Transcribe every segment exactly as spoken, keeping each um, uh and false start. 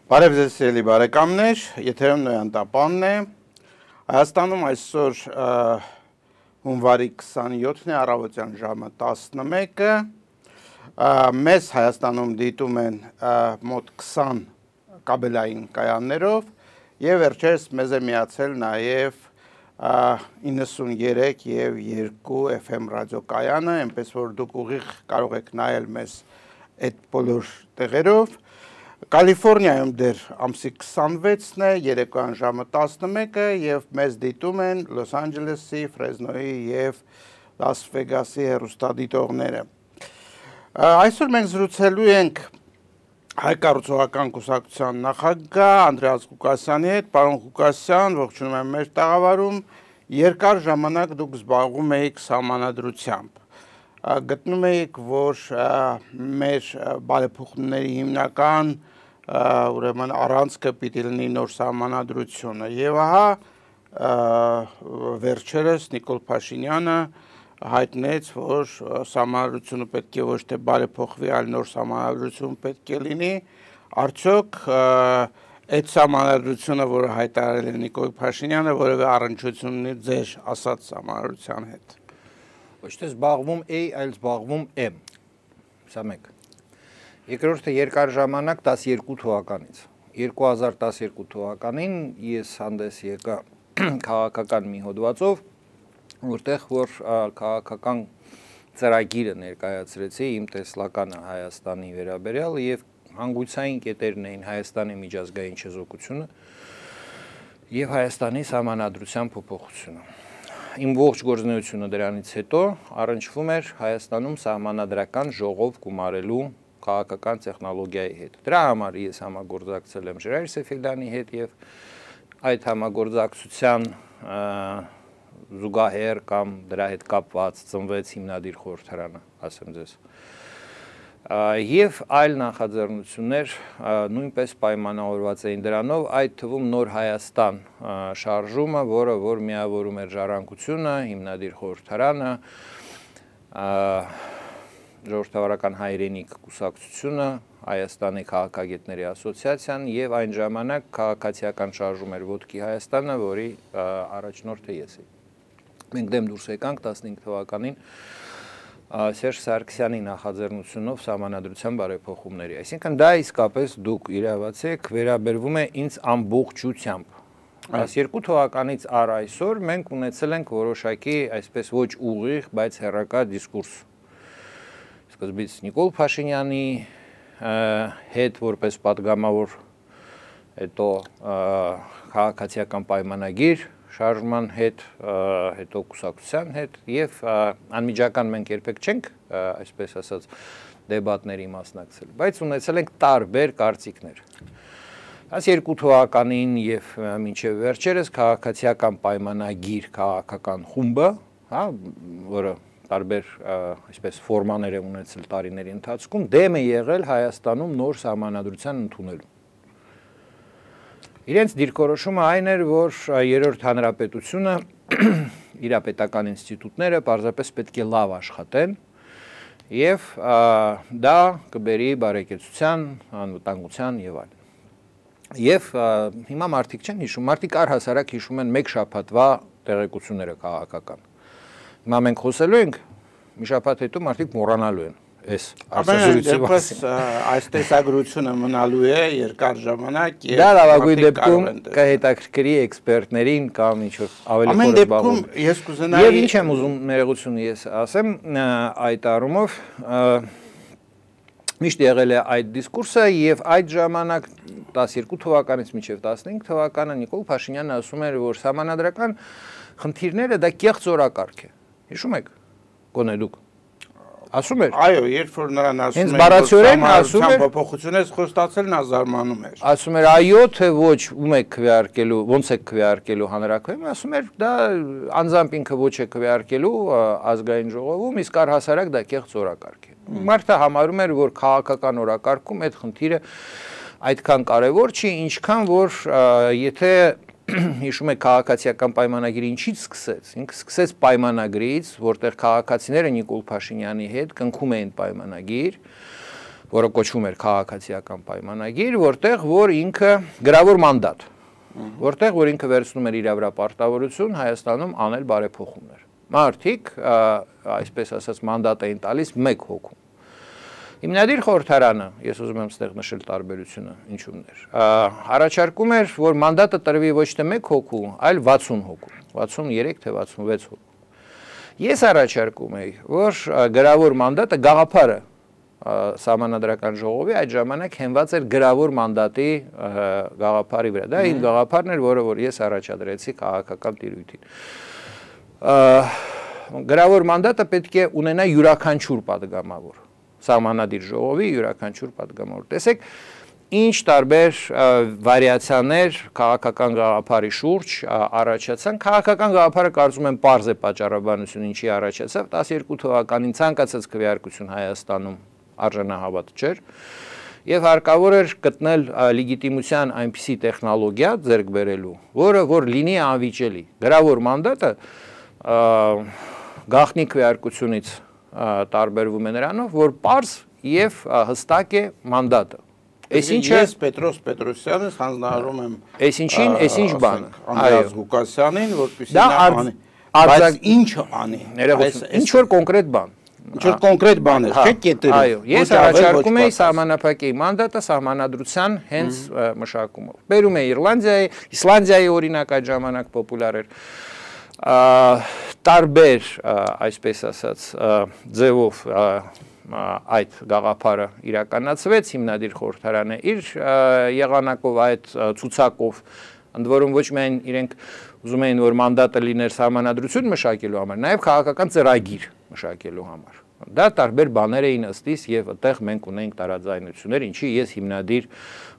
Բարև ձեզ սիրելի բարեկամներ, եթերում Նոյան Տապանն է։ Հայաստանում այսօր հունվարի քսանյոթն է, առավոտյան ժամը տասնմեկը։ Մեզ Հայաստանում դիտում են մոտ քսան կաբելային կայաններով եւ վերջերս մեզ է միացել նաեւ իննսունյերեք եւ երկու F M ռադիոկայանը, այնպես որ դուք ուղիղ կարող եք նայել մեզ այդ բոլոր տեղերով։ Կալիֆոռնիայում դեռ ամսի քսանվեցն է, երեկոյան ժամը տասնմեկը եւ մեզ դիտում են Լոս Անջելեսի, Ֆրեզնոյի եւ Լաս Վեգասի հեռուստադիտողները։ Այսօր մենք զրուցելու ենք Հայ կառուցողական կուսակցության նախագահ Անդրեաս Ղուկասյանի հետ։ Պարոն Ղուկասյան, ողջունում եմ մեր տաղավարում։ Երկար ժամանակ դուք զբաղվում էիք սահմանադրությամբ։ Գտնում էիք, որ մեր բարեփոխումների հիմնական ուրեմն առանցքը պիտի լինի նոր սահմանադրությունը եւ ահա վերջերս Նիկոլ Փաշինյանը հայտնեց, որ սահմանադրությունը պետք է ոչ թե բարեփոխվի, այլ նոր սահմանադրություն պետք է լինի։ Արդյոք այդ սահմանադրությունը, որը հայտարարել է Նիկոլ Փաշինյանը, որևէ առնչություն ունի ձեր ասած սահմանադրության հետ։ Ոչ թե զբաղվում A, այլ զբաղվում M։ Սա մեկ։ Երկրորդը երկար ժամանակ տասներկու թվականից։ երկու հազար տասներկու թվականին ես հանդես եկա քաղաքական մի հոդվածով, որտեղ որ քաղաքական ծրագիրը ներկայացրեցի իմ տեսլականը Հայաստանի վերաբերյալ եւ հանգույցային կետերն էին Հայաստանի միջազգային չեզոքությունը եւ Հայաստանի սահմանադրության փոփոխությունը։ Իմ ողջ գործունեությունը դրանից հետո առնչվում էր Հայաստանում սահմանադրական ժողով գումարելու քաղաքական տեխնոլոգիայի հետ։ Դրա համար ես համագործակցել եմ Ժերար Սեֆիլդյանի հետ եւ այդ համագործակցության զուգահեռ կամ դրա հետ կապված ծնվեց հիմնադիր խորհրդարանը, ասեմ ձեզ։ Եվ այլ նախաձեռնություններ նույնպես պայմանավորված էին դրանով, այդ թվում Նոր Հայաստան շարժումը, որը որ միավորում էր Ժառանգությունը, հիմնադիր խորհրդարանը, Ժողովրդավարական հայրենիք կուսակցությունը, Հայաստանի քաղաքագետների ասոցիացիան եւ այն ժամանակ քաղաքացիական շարժում էր Ոտքի Հայաստանը, որի առաջնորդը ես էի։ Մենք դեմ դուրս եկանք տասնհինգ թվականին Սերժ Սարգսյանի նախաձեռնությունով սահմանադրության բարեփոխումների։ Այսինքն դա իսկապես դուք իրավացեք, վերաբերվում է ինձ ամբողջությամբ։ տասներկու թվականից առ այսօր մենք ունեցել ենք որոշակի այսպես ոչ ուղիղ, բայց հեռակա դիսկուրս։ Սկզբից Նիկոլ Փաշինյանի հետ որպես պատգամավոր, հետո քաղաքացիական պայմանագիր շարժման հետ, հետո կուսակցության հետ եւ անմիջական մենք երբեք չենք, այսպես ասած, դեբատների մասնակցել, բայց ունեցել ենք տարբեր կարծիքներ։ տասներկու թվականին եւ մինչեւ վերջերս քաղաքացիական պայմանագիր քաղաքական խումբը, հա, որը տարբեր այսպես ֆորմաներ է ունեցել տարիների ընթացքում, դեմ է եղել Հայաստանում նոր սահմանադրության ընդունելու։ Իրենց դիրքորոշումը այն էր, որ երրորդ հանրապետությունը, իր պետական ինստիտուտները պարզապես պետք է լավ աշխատեն եւ դա կբերի բարեկեցության, անվտանգության եւ այլն։ Եվ հիմա մարդիկ չեն հիշում, մարդիկ առհասարակ հիշում են մեկ շաբաթվա տեղեկությունները քաղաքական։ Հիմա մենք խոսելու ենք, մի շաբաթ հետո մարդիկ մոռանալու են այս արտասուլիցի մասին։ Այս տեսագրությունը մնալու է երկար ժամանակ եւ դա լավագույն դեպքում կհետաքրքրի էքսպերտներին կամ ինչ-որ ավելի խորը զբաղվում։ Ես կուզենայի Եվ ինչ եմ ուզում ներողություն ես ասեմ այդ առումով միշտ եղել է այդ դիսկուրսը եւ այդ ժամանակ տասներկու թվականից մինչեւ տասնհինգ թվականը Նիկոլ Փաշինյանը ասում էր, որ սահմանադրական խնդիրները դա կեղծ օրակարգ է։ Հիշում եք, գոնե դուք ասում էր։ Այո, երբ որ նրան ասում են, բառացիորեն ասում էր, փոփոխությունից խոստացել նա զարմանում էր։ Ասում էր, այո, թե ոչ, ում եք քվեարկելու, ոնց եք քվեարկելու հանրաքվեում, ասում էր, դա անձամբ ինքը ոչ է քվեարկելու ազգային ժողովում, իսկ առհասարակ դա կեղծ օրակարգ է։ Մարդը համարում էր, որ քաղաքական օրակարգում այդ խնդիրը այդքան կարևոր չի, ինչքան որ եթե հիշում եք քաղաքացիական պայմանագիրը ինչից սկսեց, ինքը սկսեց պայմանագրից, որտեղ քաղաքացիները Նիկոլ Փաշինյանի հետ կնքում էին պայմանագիր, որը կոչվում էր քաղաքացիական պայմանագիր, որտեղ որ ինքը գրավոր մանդատ, որտեղ որ ինքը վերցնում էր իր վրա պարտավորություն Հայաստանում անել բարեփոխումներ։ Մարդիկ, այսպես ասած, մանդատ էին տալիս մեկ հոգու։ Հիմնադիր խորհրդարանը, ես ուզում եմ ստեղ նշել տարբերությունը, ինչումներ, առաջարկում էր, որ մանդատը տրվի ոչ թե մեկ հոգու, այլ վաթսուն հոգու, վաթսուներեք թե վաթսունվեց հոգու։ Ես առաջարկում էի, որ գրավոր մանդատը գաղափարը Սահմանադրական ժողովի այդ ժամանակ հենված էր գրավոր մանդատի գաղափարի վրա։ Դա այն գաղափարն էր, որը որ ես առաջադրեցի քաղաքական տիրույթին։ Գրավոր մանդատը պետք է ունենա յուրաքանչյուր պատգամավոր, Սահմանադիր ժողովի յուրաքանչյուր պատգամավոր։ Տեսեք, ինչ տարբեր վարիացիաներ քաղաքական գաղափարի շուրջ առաջացան։ Քաղաքական գաղափարը կարծում եմ պարզ է պատճառաբանություն ինչի առաջացավ, տասներկու թվականին ցանկացած քվեարկություն Հայաստանում արժանահավատ չէր եւ հարկավոր էր գտնել լեգիտիմության այնպիսի տեխնոլոգիա ձեռք բերելու, որը որ լինի անվիճելի։ Գրավոր մանդատը գաղտնի քվեարկությունից տարբերվում է նրանով, որ պարզ եւ հստակ է մանդատը։ Այսինչը ես Պետրոս Պետրոսյանից հանձնարարում եմ այսինչին, այսինչ բանը, Անդրեաս Ղուկասյանին, որպեսզի նա անի, բայց ինչը անի, ինչ որ կոնկրետ բան, ինչ որ կոնկրետ բան է, չէ՞ կետերը։ Այո, ես առաջարկում էի սահմանափակեի մանդատը սահմանադրության հենց մշակումով։ Բերում է Իռլանդիայի, Իսլանդիայի օրինակ այդ ժամանակ պոպուլար էր։ Տարբեր, այսպես ասած, ձևով այդ գաղափարը իրականացվեց, հիմնադիր խորհրդարանը իր եղանակով, այդ ցուցակով, ընդ որում ոչ միայն իրենք ուզում էին, որ մանդատը լիներ սահմանադրություն մշակելու համար, նաև քաղաքական ծրագիր մշակելու համար։ Դա տարբեր բաներ էին ըստիս եւ այդտեղ մենք ունենք տարաձայնություններ, ինչի ես հիմնադիր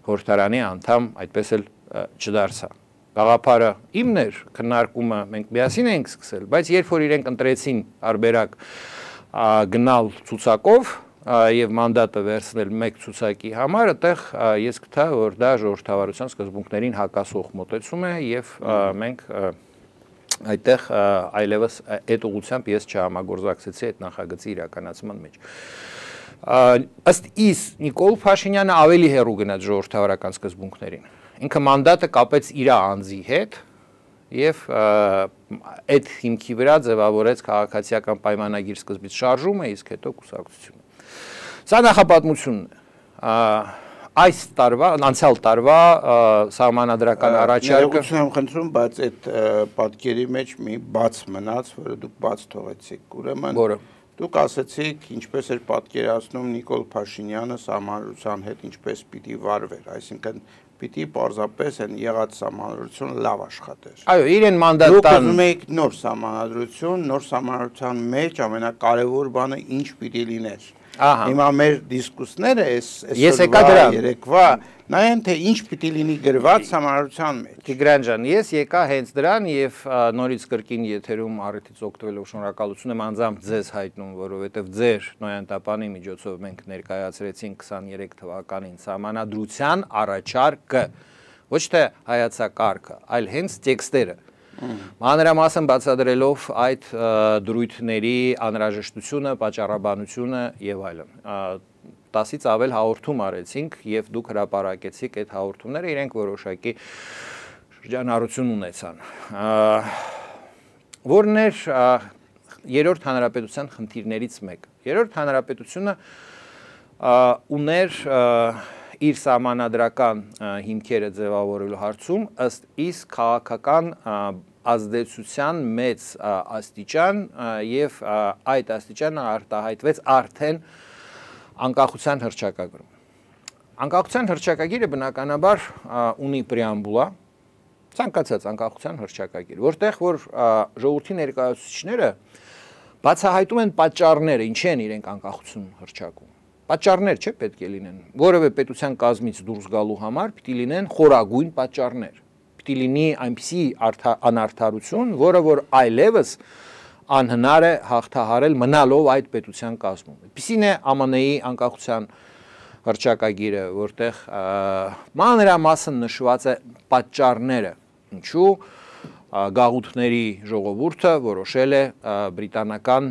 խորհրդարանի անդամ այդպես էլ չդարձա։ Գաղափարը իմն էր, քննարկումը մենք միասին էինք սկսել, բայց երբ որ իրենք ընտրեցին արբերակ գնալ ցուցակով եւ մանդատը վերցնել մեկ ցուցակի համար, այդտեղ ես գտա, որ դա ժողովրդավարության սկզբունքներին հակասող մոտեցում է եւ մենք այդտեղ այլևս այդ ուղղությամբ ես չհամագործակցեցի այդ նախագծի իրականացման մեջ։ Ըստ իս Նիկոլ Փաշինյանը ավելի հեռու գնաց ժողովրդավարական սկզբունքներին։ Ինքը մանդատը կապեց իր անձի հետ եւ այդ հիմքի վրա ձևավորեց քաղաքացիական պայմանագիր սկզբից շարժումը, իսկ հետո կուսակցությունը։ Սա նախապատմությունն է։ Այս տարվա, անցյալ տարվա սահմանադրական առաջարկը Ներողություն եմ խնդրում, բայց այդ պատկերի մեջ մի բաց մնաց, որը դուք բաց թողեցիք։ Ուրեմն դուք ասացիք, ինչպես էր պատկերացնում Նիկոլ Փաշինյանը սահմանադրության հետ ինչպես պիտի վարվեր, այսինքն պիտի պարզապես են եղած սահմանադրությունը լավ աշխատեր։ Այո, իրեն մանդատ տան։ Դուք ուզում եք նոր սահմանադրություն, նոր սահմանադրության մեջ ամենակարևոր բանը ինչ պիտի լիներ։ Հիմա մեր դիսկուսները այսօրվա երեկվա նայեն թե ինչ պիտի լինի գրված սահմանադրության մեջ։ Տիգրան ջան, ես եկա հենց դրան եւ նորից կրկին եթերում առիթից օգտվելով շնորհակալություն եմ անձամբ ձեզ հայտնում, որովհետեւ ձեր նոյանտապանի միջոցով մենք ներկայացրեցինք քսաներեք թվականին սահմանադրության առաջարկը, ոչ թե հայեցակարգը, այլ հենց տեքստերը։ Մանրամասն բացատրելով այդ դրույթների անհրաժեշտությունը, պատճառաբանությունը եւ այլն։ տասից ավել հաղորդում արեցինք եւ դուք հրապարակեցիք այդ հաղորդումները, իրենք որոշակի շրջանառություն ունեցան։ Որն էր երրորդ հանրապետության խնդիրներից մեկը։ Երրորդ հանրապետությունը ուներ իր սահմանադրական հիմքերը ձևավորելու հարցում ըստ իս քաղաքական ազդեցության մեծ աստիճան եւ այդ աստիճանը արտահայտվեց արդեն անկախության հռչակագրում։ Անկախության հռչակագիրը բնականաբար ունի պրեամբուլա, ցանկացած անկախության հռչակագիր, որտեղ որ ժողովրդի ներկայացուցիչները բացահայտում են պատճառները, ինչ են իրենք անկախություն հռչակում։ Պատճառներ չէ պետք է լինեն, որևէ պետության կազմից դուրս գալու համար պիտի լինեն խորագույն պատճառներ, պիտի լինի այնպիսի անարդարություն, որը որ այլևս անհնար է հաղթահարել մնալով այդ պետության կազմում։ Այդպիսին է Α M N-ի անկախության հռչակագիրը, որտեղ մանրամասն նշված է պատճառները, ինչու գաղութների ժողովուրդը որոշել է բրիտանական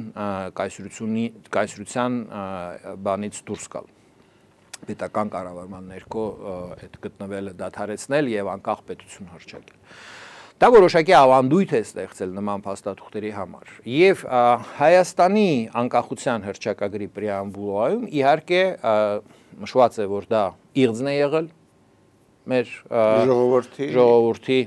կայսրության բանից դուրս գալ։ պետական կառավարման ներքո այդ գտնվելը դադարեցնել եւ անկախ պետություն հռչակել։ Դա որոշակի ավանդույթ է ստեղծել նման փաստաթուղթերի համար։ Եվ Հայաստանի անկախության հռչակագրի պրեամբուլայում իհարկե նշված է, որ դա իղձն է եղել մեր ժողովրդի ժողովրդի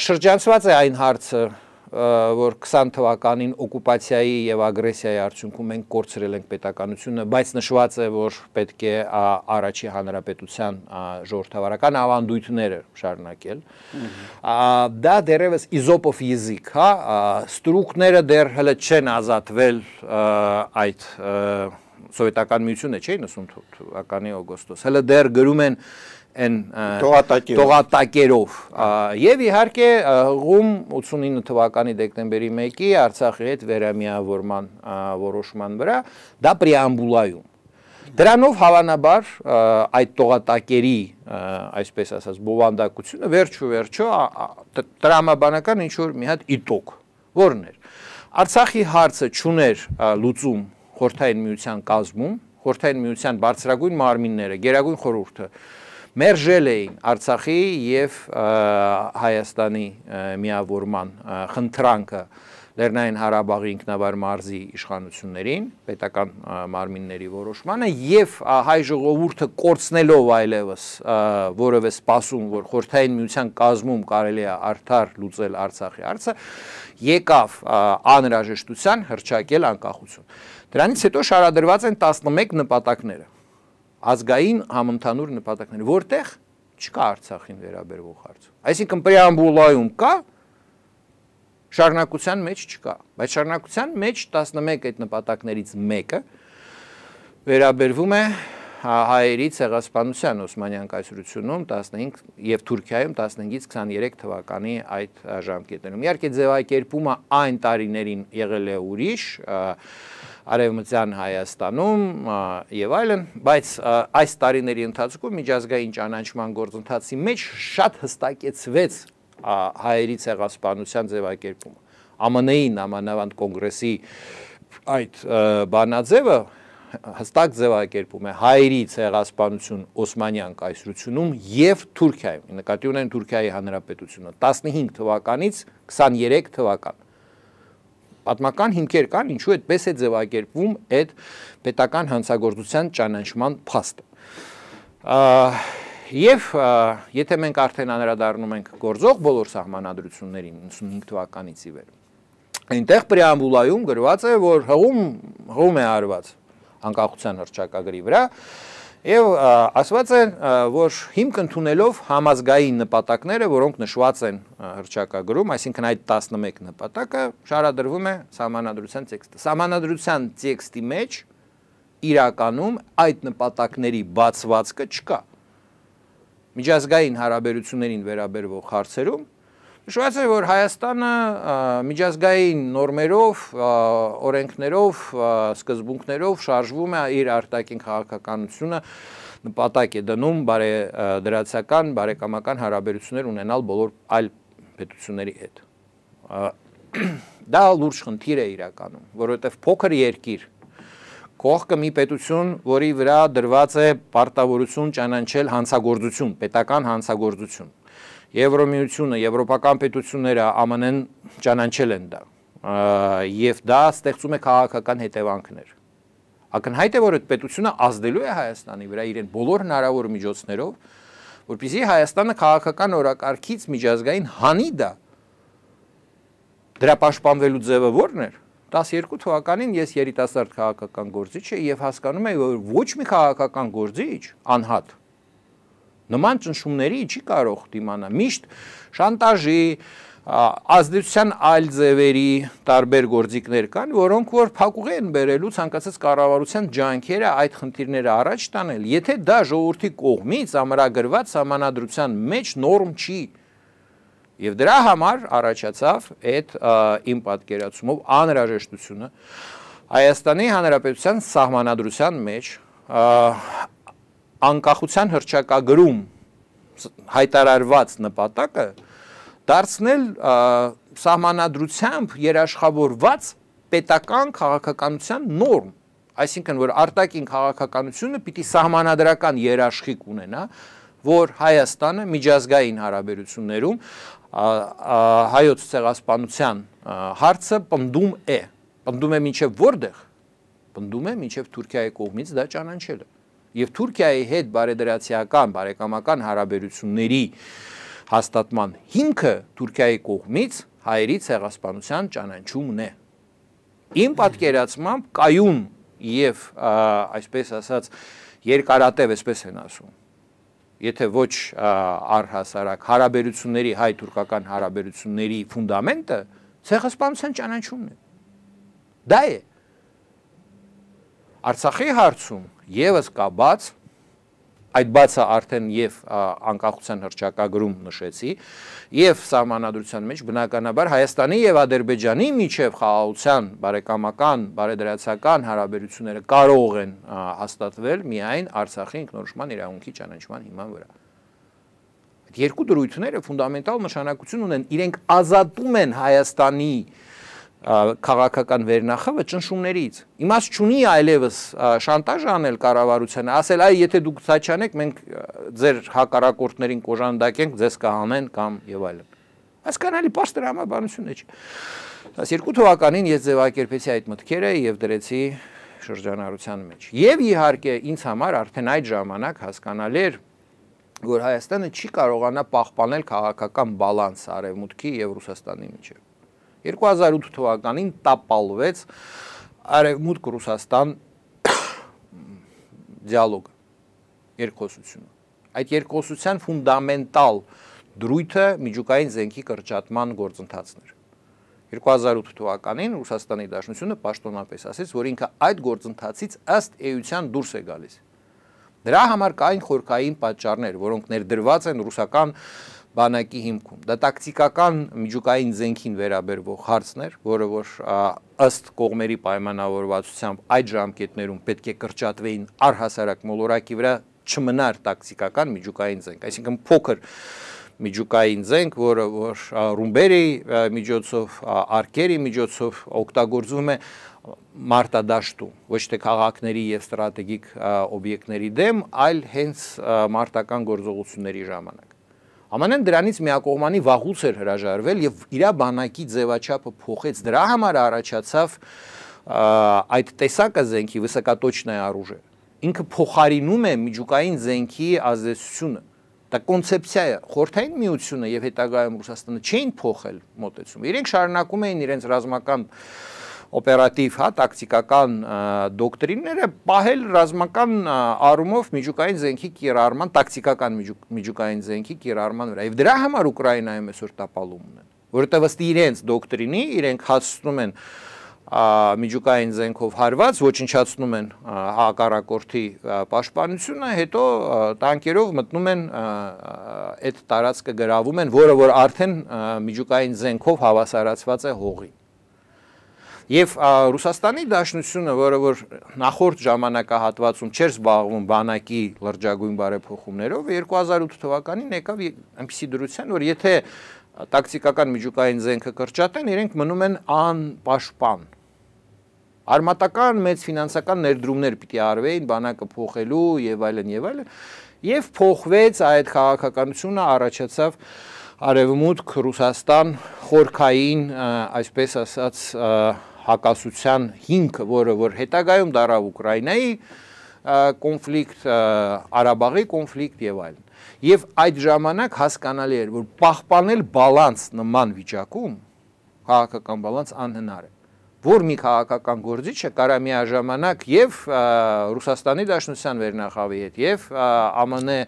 շրջանցված է այն հարցը, որ քսան թվականին օկուպացիայի եւ ագրեսիայի արդյունքում մենք կորցրել ենք պետականությունը, բայց նշված է, որ պետք է առաջի հանրապետության ժողովրդավարական ավանդույթները շարունակել։ Դա դեռևս իզոպով յեզիկ, հա, ստրուկները դեռ հələ չեն ազատվել այդ սովետական միությունը, չէ՞, իննսուն թվականի օգոստոս, հələ դեռ գրում են են տողատակերով եւ իհարկե հղում ութսունինը թվականի դեկտեմբերի մեկի Արցախի հետ վերամիավորման որոշման վրա դա պրեամբուլայում դրանով հավանաբար այդ տողատակերի այսպես ասած բովանդակությունը վերջու վերջո տրամաբանական ինչ որ մի հատ իտոկ որն էր Արցախի հարցը չուներ լուծում խորհրդային միության կազմում խորհրդային միության բարձրագույն մարմինները գերագույն խորհուրդը մերժել էին Արցախի եւ Հայաստանի միավորման խնդրանքը Լեռնային Ղարաբաղի ինքնավար մարզի իշխանություններին, պետական մարմինների որոշմանը եւ հայ ժողովուրդը կորցնելով այլևս որևէ սպասում, որ խորհրդային միության կազմում կարելի է արդար լուծել Արցախի հարցը, եկավ անհրաժեշտության հռչակել անկախություն։ Դրանից հետո շարադրված են տասնմեկ նպատակները։ Ազգային համընդհանուր նպատակներ, որտեղ չկա Արցախին վերաբերող հարց։ Այսինքն պրեամբուլայում կա, շարունակության մեջ չկա, բայց շարունակության մեջ տասնմեկ այդ նպատակներից մեկը վերաբերվում է հայերի ցեղասպանության Օսմանյան կայսրությունում տասնհինգ եւ Թուրքիայում տասնհինգից քսաներեք թվականի այդ ժամկետներում։ Իհարկե ձևակերպումը այն տարիներին եղել է ուրիշ, Արևմտյան Հայաստանում եւ այլն, բայց այս տարիների ընթացքում միջազգային ճանաչման գործընթացի մեջ շատ հստակեցվեց հայերի ցեղասպանության ձևակերպումը։ ԱՄՆ-ի նամանավանդ կոնգրեսի այդ բանաձևը հստակ ձևակերպում է հայերի ցեղասպանություն Օսմանյան կայսրությունում եւ Թուրքիայում։ Նկատի ունեն Թուրքիայի հանրապետությունը տասնհինգ թվականից քսաներեք թվական։ Պատմական հիմքեր կան, ինչու այդպես է ձևակերպվում այդ պետական հանցագործության ճանաչման փաստը։ Եվ եթե մենք արդեն անդրադառնում ենք գործող բոլոր սահմանադրություններին իննսունհինգ թվականից ի վեր, այնտեղ պրեամբուլայում գրված է, որ հղում հղում է արված անկախության հռչակագրի վրա եւ ասված է, որ հիմք ընդունելով համազգային նպատակները, որոնք նշված են հռչակագրում, այսինքն այդ տասնմեկ նպատակը շարադրվում է սահմանադրության տեքստը։ Սահմանադրության տեքստի մեջ իրականում այդ նպատակների բացվածքը չկա։ Միջազգային հարաբերություններին վերաբերող հարցերում նշված է, որ Հայաստանը միջազգային նորմերով, օրենքներով, սկզբունքներով շարժվում է իր արտաքին քաղաքականությունը նպատակ է դնում բարեդրացական, բարեկամական հարաբերություններ ունենալ բոլոր այլ պետությունների հետ։ Դա լուրջ խնդիր է իրականում, որովհետև փոքր երկիր կողքը մի պետություն, որի վրա դրված է պարտավորություն ճանաչել հանցագործություն, պետական հանցագործություն։ Եվրոմիությունը, եվրոպական պետությունները ԱՄՆ N ճանաչել են դա եւ դա ստեղծում է քաղաքական հետևանքներ։ Ակնհայտ է, որ այդ պետությունը ազդելու է Հայաստանի վրա իրեն բոլոր հնարավոր միջոցներով, որպեսզի Հայաստանը քաղաքական օրակարգից միջազգային հանի դա։ Դրա պաշտպանվելու ձևը ո՞րն էր։ տասներկու թվականին ես երիտասարդ քաղաքական գործիչ եմ եւ հասկանում եմ, որ ոչ մի քաղաքական գործիչ անհատ նման ճնշումների չի կարող դիմանալ։ Միշտ շանտաժի, ազդեցության այլ ձևերի տարբեր գործիքներ կան, որոնք որ փակուղի են բերելու ցանկացած կառավարության ջանքերը այդ խնդիրները առաջ տանել, եթե դա ժողովրդի կողմից ամրագրված սահմանադրության մեջ նորմ չի։ Եվ դրա համար առաջացավ այդ իմ պատկերացումով անհրաժեշտությունը Հայաստանի Հանրապետության սահմանադրության մեջ անկախության հռչակագրում հայտարարված նպատակը դարձնել սահմանադրությամբ երաշխավորված պետական քաղաքականության նորմ Այսինքն, որ արտաքին քաղաքականությունը պիտի սահմանադրական երաշխիք ունենա, որ Հայաստանը միջազգային հարաբերություններում հայոց ցեղասպանության հարցը պնդում է, պնդում է մինչև որտեղ, պնդում է մինչև Թուրքիայի կողմից դա ճանաչելը։ Եվ Թուրքիայի հետ բարեդրացիական, բարեկամական հարաբերությունների հաստատման հիմքը Թուրքիայի կողմից հայերի ցեղասպանության ճանաչումն է։ Իմ պատկերացմամբ կայուն եւ այսպես ասած երկարատև, այսպես են ասում, եթե ոչ առհասարակ հարաբերությունների, հայ-թուրքական հարաբերությունների ֆունդամենտը ցեղասպանության ճանաչումն է։ Դա է։ Արցախի հարցում եւս կա բաց, այդ բացը արդեն եւ անկախության հռչակագրում նշեցի, եւ սահմանադրության մեջ բնականաբար Հայաստանի եւ Ադրբեջանի միջև խաղաղության, բարեկամական, բարեդրացական հարաբերությունները կարող են հաստատվել միայն Արցախի ինքնորոշման իրավունքի ճանաչման հիման վրա։ Այդ երկու դրույթները ֆունդամենտալ նշանակություն ունեն, իրենք ազատում են Հայաստանի քաղաքական վերնախավը ճնշումներից։ Իմաստ չունի այլևս շանտաժ անել կառավարությանը, ասել այ եթե դուք սա չանեք, մենք ձեր հակառակորդներին կոժանդակենք, ձեզ կհանեն կամ եւ այլն։ Հասկանալի պարզ դրամաբանություն է։ տասներկու թվականին ես ձևակերպեցի այդ մտքերը եւ դրեցի շրջանառության մեջ։ Եվ իհարկե ինձ համար արդեն այդ ժամանակ հասկանալի էր, որ Հայաստանը չի կարողանա պահպանել քաղաքական բալանս Արևմուտքի եւ Ռուսաստանի միջեւ։ երկու հազար ութ թվականին տապալվեց Արևմուտք-Ռուսաստան դիալոգը, երկխոսությունը։ Այդ երկխոսության ֆունդամենտալ դրույթը միջուկային զենքի կրճատման գործընթացն էր։ երկու հազար ութ թվականին Ռուսաստանի Դաշնությունը պաշտոնապես ասեց, որ ինքը այդ գործընթացից ըստ էության դուրս է գալիս։ Դրա համար կային խորքային պատճառներ, որոնք ներդրված են ռուսական բանակի հիմքում։ Դա տակտիկական միջուկային զենքին վերաբերվող հարցն էր, որը որ ըստ կողմերի պայմանավորվածությամբ այդ ժամկետներում պետք է կրճատվեին առհասարակ մոլորակի վրա չմնար տակտիկական միջուկային զենք, այսինքն փոքր միջուկային զենք, որը որ ռումբերի միջոցով, արկերի միջոցով օգտագործվում է մարտադաշտում, ոչ թե քաղաքների եւ ստրատեգիկ օբյեկտների դեմ, այլ հենց մարտական գործողությունների ժամանակ։ Ամանեն դրանից միակողմանի վաղուց էր հրաժարվել եւ իր բանակի ձևաչափը փոխեց, դրա համար առաջացավ այդ տեսակը զենքի վысокоточное оружие։ Ինքը փոխարինում է միջուկային զենքի ազդեցությունը։ Դա կոնցեպցիա է, խորհրդային միությունը եւ հետագայում Ռուսաստանը չէին փոխել մոտեցումը։ Իրենք շարունակում էին իրենց ռազմական օպերատիվ, հա, տակտիկական դոկտրինները պահել ռազմական առումով միջուկային զենքի կիրառման, տակտիկական միջուկային զենքի կիրառման վրա։ Եվ դրա համար Ուկրաինայում այսօր տապալում ունեն, որովհետև ըստ իրենց դոկտրինի իրենք հաստատում են միջուկային զենքով հարված, ոչնչացնում են հակառակորդի պաշտպանությունը, հետո տանկերով մտնում են այդ տարածքը գրավում են, որը որ արդեն միջուկային զենքով հավասարացված է հողի։ Եվ Ռուսաստանի Դաշնությունը, որը որ նախորդ ժամանակահատվածում չէր զբաղվում բանակի լրջագույն բարեփոխումներով, երկու հազար ութ թվականին եկավ այնպիսի դրության, որ եթե տակտիկական միջուկային զենքը կրճատեն, իրենք մնում են անպաշտպան։ Արմատական մեծ ֆինանսական ներդրումներ պիտի արվեին բանակը փոխելու եւ այլն եւ այլն, եւ փոխվեց այդ քաղաքականությունը, առաջացավ Արևմուտք Ռուսաստան խորքային, այսպես ասած, հակասության հիմքը, որը որ հետագայում դարավ Ուկրաինայի կոնֆլիկտ, Արաբաղի կոնֆլիկտ եւ այլն։ Եվ այդ ժամանակ հասկանալի էր, որ պահպանել բալանս նման վիճակում, քաղաքական բալանս անհնար է, որ մի քաղաքական գործիչը կարա միաժամանակ եւ Ռուսաստանի Դաշնության վերնախավի հետ եւ ԱՄՆ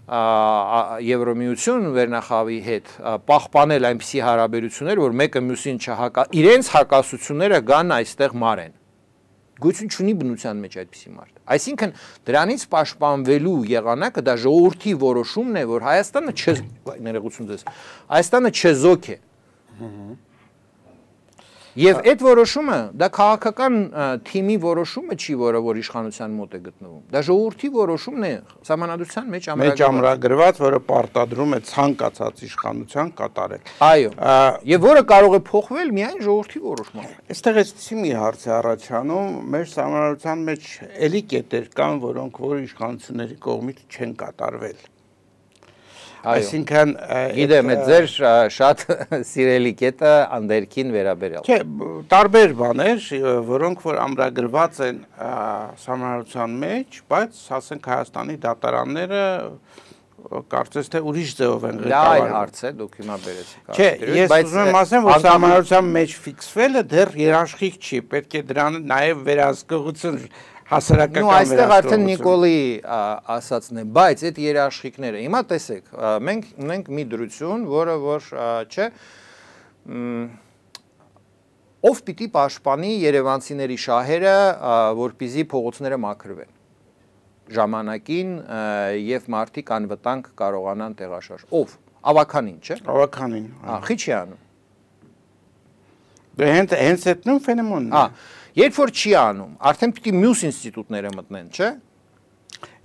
Եվրոմիություն վերնախավի հետ պահպանել այնպիսի հարաբերություններ, որ մեկը մյուսին չհակա, իրենց հակասությունները գան այստեղ մարեն։ Գույություն չունի բնության մեջ այդպիսի մարդ։ Այսինքն դրանից պաշտպանվելու եղանակը դա ժողովրդի որոշումն է, որ Հայաստանը ներողություն ձեզ, Հայաստանը չեզոք է։ Եվ այդ որոշումը դա քաղաքական թիմի որոշումը չի, որը որ իշխանության մոտ է գտնվում։ Դա ժողովրդի որոշումն է սահմանադրության մեջ ամրագրված, մեջ ամրագրված, որը պարտադրում է ցանկացած իշխանության կատարել։ Այո։ Եվ որը կարող է փոխվել միայն ժողովրդի որոշմամբ։ Այստեղ էսի մի հարց է առաջանում, մեր սահմանադրության մեջ էլի կետեր կան, որոնք որ իշխանությունների կողմից չեն կատարվել։ Այսինքն գիտեմ, այդ ձեր շատ սիրելի կետը անդերքին վերաբերյալ։ Չէ, տարբեր բաներ, որոնք որ ամրագրված են սահմանադրության մեջ, բայց ասենք Հայաստանի դատարանները կարծես թե ուրիշ ձևով են ղեկավարում։ Դա այլ հարց է, դուք հիմա բերեցիք։ Չէ, ես ուզում եմ ասեմ, որ սահմանադրության մեջ ֆիքսվելը դեռ երաշխիք չի, պետք է դրան նաև վերահսկողություն հասարակական Ну այստեղ արդեն Նիկոլի ասածն է, բայց այդ երաշխիքները, հիմա տեսեք, մենք ունենք մի դրություն, որը որ չէ, ով պիտի պաշտպանի երևանցիների շահերը, որպեսզի փողոցները մաքրվեն ժամանակին եւ մարդիկ անվտանգ կարողանան տեղաշարժ։ Ով? Ավականին, չէ՞։ Ավականին։ Հա, խի չի անում։ Դե հենց հենց այդ նույն ֆենոմենն է։ Հա, երբ որ չի անում, արդեն պիտի մյուս ինստիտուտները մտնեն, չէ՞։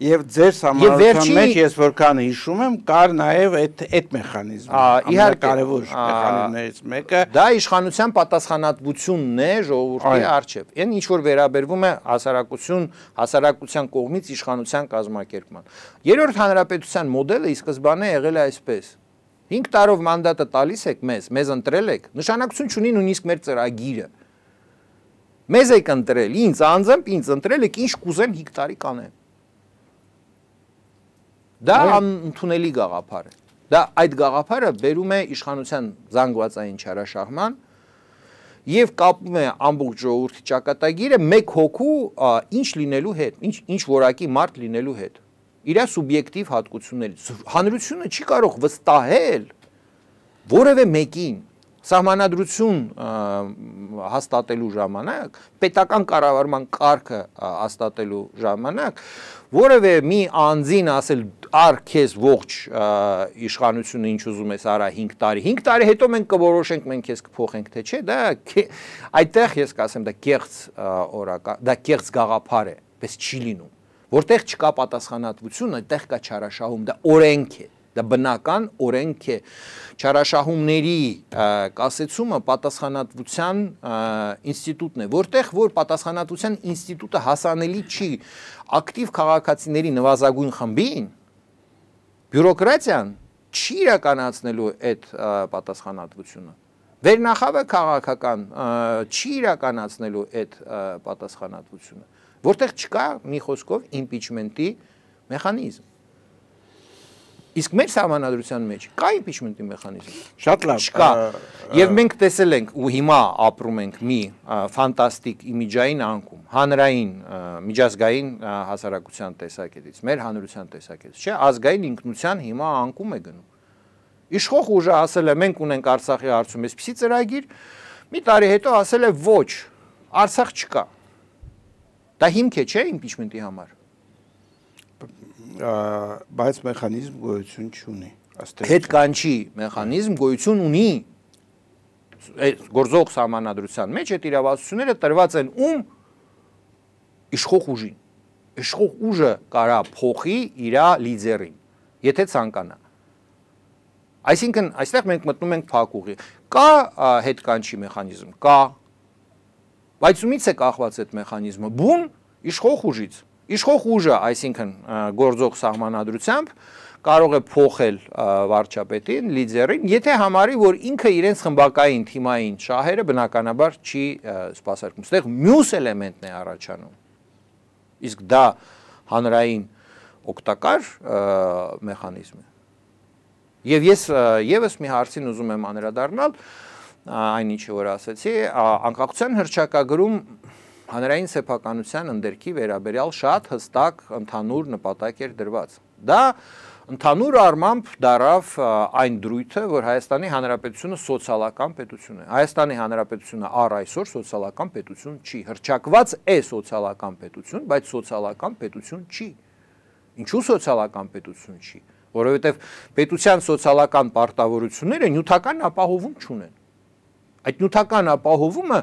Եվ ձեր սահմանադրության մեջ ես որքան հիշում եմ, կար նաև այդ այդ մեխանիզմը։ Իհարկե, կարևոր մեխանիզմներից մեկը դա իշխանության պատասխանատվությունն է ժողովրդի առջև։ Այն ինչ որ վերաբերվում է հասարակություն, հասարակության կողմից իշխանության կազմակերպման։ Երրորդ հանրապետության մոդելը ի սկզբանե եղել է այսպես. հինգ տարով մանդատը տալիս եք մեզ, մեզ ընտրել եք, նշանակություն չունի նույնիսկ մեր ծրագիրը։ Մեզ եք ընտրել, ինձ անձամբ ինձ ընտրել եք, ինչ կուզեմ հինգ տարի կանեմ։ Դա անընդունելի գաղափար է։ Դա այդ գաղափարը բերում է իշխանության զանգվածային չարաշահման եւ կապում է ամբողջ ժողովրդի ճակատագիրը մեկ հոգու ինչ լինելու հետ, ինչ ինչ որակի մարդ լինելու հետ։ Իր սուբյեկտիվ հատկություններից։ Հանրությունը չի կարող վստահել որևէ մեկին սահմանադրություն հաստատելու ժամանակ, պետական կառավարման կարգը հաստատելու ժամանակ, որևէ մի անձին ասել ար քեզ ողջ իշխանությունը ինչ ուզում ես արա հինգ տարի, հինգ տարի հետո մենք կորոշենք, մենք քեզ կփոխենք, թե չէ, դա այդտեղ ես կասեմ, դա կեղծ օրական, դա կեղծ գաղափար է, պես չի լինում, որտեղ չկա պատասխանատվություն, այդտեղ կա չարաշահում, դա օրենք է։ Դա բնական օրենք է, չարաշահումների կասեցումը պատասխանատվության ինստիտուտն է, որտեղ որ պատասխանատվության ինստիտուտը հասանելի չի ակտիվ քաղաքացիների նվազագույն խմբին, բյուրոկրատիան չի իրականացնելու այդ պատասխանատվությունը, վերնախավը քաղաքական չի իրականացնելու այդ պատասխանատվությունը, որտեղ չկա մի խոսքով իմպիչմենտի մեխանիզմ։ Իսկ մեր սահմանադրության մեջ կա իմպիչմենտի մեխանիզմ։ Շատ լավ։ Չկա։ Եվ մենք տեսել ենք ու հիմա ապրում ենք մի ֆանտաստիկ իմիջային անկում, հանրային միջազգային հասարակության տեսակետից, մեր հանրության տեսակետից, չէ՞, ազգային ինքնության հիմա անկում է գնում։ Իշխող ուժը ասել է մենք ունենք Արցախի հարցում այսպիսի ծրագիր, մի տարի հետո ասել է ոչ, Արցախ չկա։ Դա հիմք է, չէ՞, իմպիչմենտի համար։ Բայց մեխանիզմ գոյություն չունի։ Հետ կանչի մեխանիզմ գոյություն ունի։ Գործող սահմանադրության մեջ այդ իրավասությունները տրված են ում իշխող ուժին։ Իշխող ուժը կարա փոխի իր լիդերին, եթե ցանկանա։ Այսինքն այստեղ մենք մտնում ենք փակուղի։ Կա հետ կանչի մեխանիզմ, կա։ Բայց ումից է կախված այդ մեխանիզմը։ Բուն իշխող ուժից։ Իշխող ուժը, այսինքն գործող սահմանադրությամբ կարող է փոխել վարչապետին, լիդերին, եթե համարի, որ ինքը իրենց խմբակային թիմային շահերը բնականաբար չի սպասարկում։ Այստեղ մյուս էլեմենտն է առաջանում։ Իսկ դա հանրային օգտակար մեխանիզմ է։ Եվ ես եւս մի հարցին ուզում եմ անդրադառնալ, այն ինչը որ ասացի, անկախության հռչակագրում հանրային սեփականության ընդերքի վերաբերյալ շատ հստակ ընդհանուր նպատակ էր դրված։ Դա ընդհանուր առմամբ դարավ այն դրույթը, որ Հայաստանի Հանրապետությունը սոցիալական պետություն է։ Հայաստանի Հանրապետությունը առ այսօր սոցիալական պետություն չի, հռչակված է սոցիալական պետություն, բայց սոցիալական պետություն չի։ Ինչու սոցիալական պետություն չի։ Որովհետև պետության սոցիալական պարտավորությունները նյութական ապահովում չունեն։ Այդ նյութական ապահովումը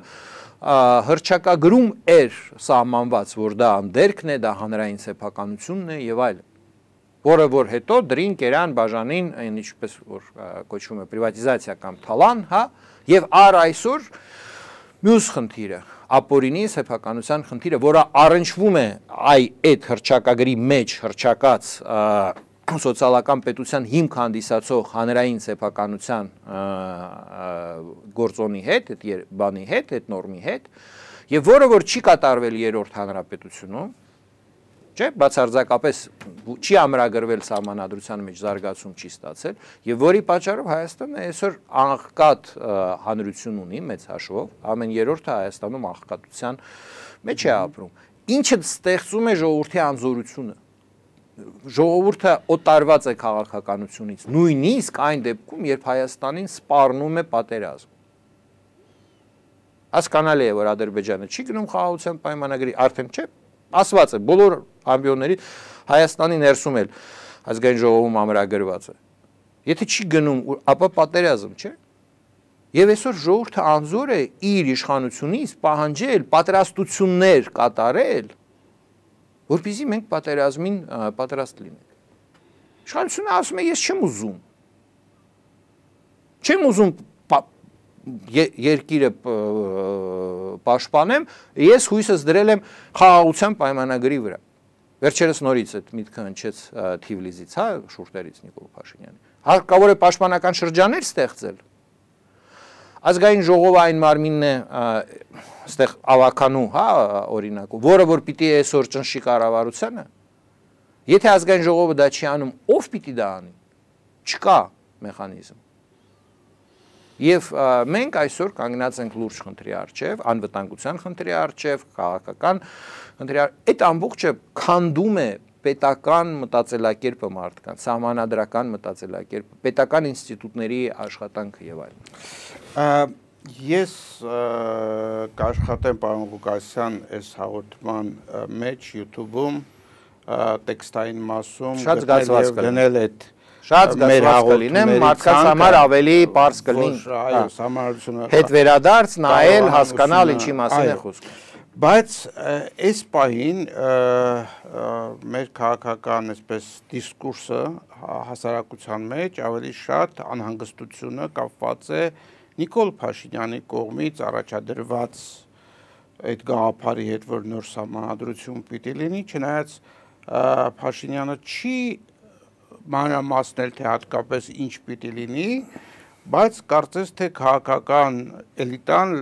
հռչակագրում էր սահմանված, որ դա անդերքն է, դա հանրային սեփականությունն է եւ այլն։ Որը որ հետո դրին կերան բաժանին, ինչպես որ կոչվում է պրիվատիզացիա կամ թալան, հա, եւ առ այսօր մյուս խնդիրը, ապօրինի սեփականության խնդիրը, որը առնչվում է այ այդ հռչակագրի մեջ հռչակած սոցիալական պետության հիմք հանդիսացող հանրային սեփականության գործոնի հետ, այդ բանի հետ, այդ նորմի հետ, եւ որը որ չի կատարվել երրորդ հանրապետությունում, չէ, բացարձակապես չի ամրագրվել սահմանադրության մեջ զարգացում չի ստացել, եւ որի պատճառով Հայաստանը այսօր աղքատ հանրություն ունի մեծ հաշվով, ամեն երրորդը Հայաստանում աղքատության մեջ է ապրում, ինչը ստեղծում է ժողովրդի անզորությունը։ Ժողովուրդը օտարված է քաղաքականությունից, նույնիսկ այն դեպքում, երբ Հայաստանին սպառնում է պատերազմ։ Հասկանալի է, որ Ադրբեջանը չի գնում խաղաղության պայմանագրի, արդեն չէ, ասված է, բոլոր ամբիոնների Հայաստանի ներսում էլ ազգային ժողովում ամրագրված է։ Եթե չի գնում, ապա պատերազմ, չէ։ Եվ այսօր ժողովուրդը անզոր է իր իշխանությունից պահանջել պատրաստություններ կատարել, որպեսզի մենք պատերազմին պատրաստ լինենք։ Իշխանությունը ասում է, ես չեմ ուզում։ Չեմ ուզում երկիրը պաշտպանեմ, ես հույսս դրել եմ խաղաղության պայմանագրի վրա։ Վերջերս նորից այդ միտքը հնչեց Թիֆլիսից, հա, շուրթերից Նիկոլ Փաշինյանի։ Հարկավոր է պաշտպանական շրջաններ ստեղծել։ Ազգային ժողովը այն մարմինն է, այստեղ ավականու, հա, օրինակով, որը որ պիտի այսօր ճնշի կառավարությանը, եթե ազգային ժողովը դա չի անում, ով պիտի դա անի։ Չկա մեխանիզմ։ Եվ մենք այսօր կանգնած ենք լուրջ խնդրի առջև, անվտանգության խնդրի առջև, քաղաքական խնդրի առջև, այդ ամբողջը քանդում է պետական մտածելակերպը մարդկանց, սահմանադրական մտածելակերպը, պետական ինստիտուտների աշխատանքը եւ այլն։ Ես կաշխատեմ պարոն Ղուկասյան այս հաղորդման մեջ YouTube-ում տեքստային մասում գնել այդ շատ զգացված կլինեմ, մարդկանց համար ավելի պարզ կլինի հետ վերադարձ, նայել, հասկանալ ինչի մասին է խոսքը։ Բայց այս պահին մեր քաղաքական այսպես դիսկուրսը հասարակության մեջ ավելի շատ անհանգստությունը կապված է Նիկոլ Փաշինյանի կողմից առաջադրված այդ գաղափարի հետ, որ նոր սահմանադրություն պիտի լինի, չնայած Փաշինյանը չի մանրամասնել, թե հատկապես ինչ պիտի լինի, բայց կարծես թե քաղաքական էլիտան